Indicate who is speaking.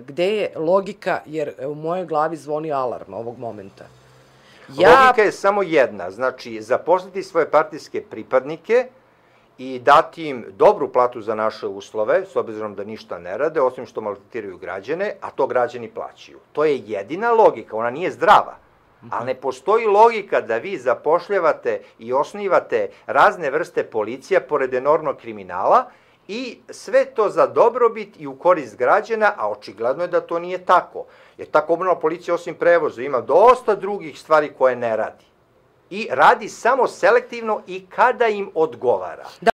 Speaker 1: Gde je logika, jer u mojoj glavi zvoni alarm ovog momenta.
Speaker 2: Logika je samo jedna, znači zaposliti svoje partijske pripadnike i dati im dobru platu za naše uslove, s obzirom da ništa ne rade, osim što maltretiraju građane, a to građani plaćaju. To je jedina logika, ona nije zdrava. Ali ne postoji logika da vi zapošljavate i osnivate razne vrste policija pored enormnog kriminala i sve to za dobrobit i u korist građana, a očigledno je da to nije tako. Jer ta komunalna policija osim prevoza ima dosta drugih stvari koje ne radi. I radi samo selektivno i kada im odgovara.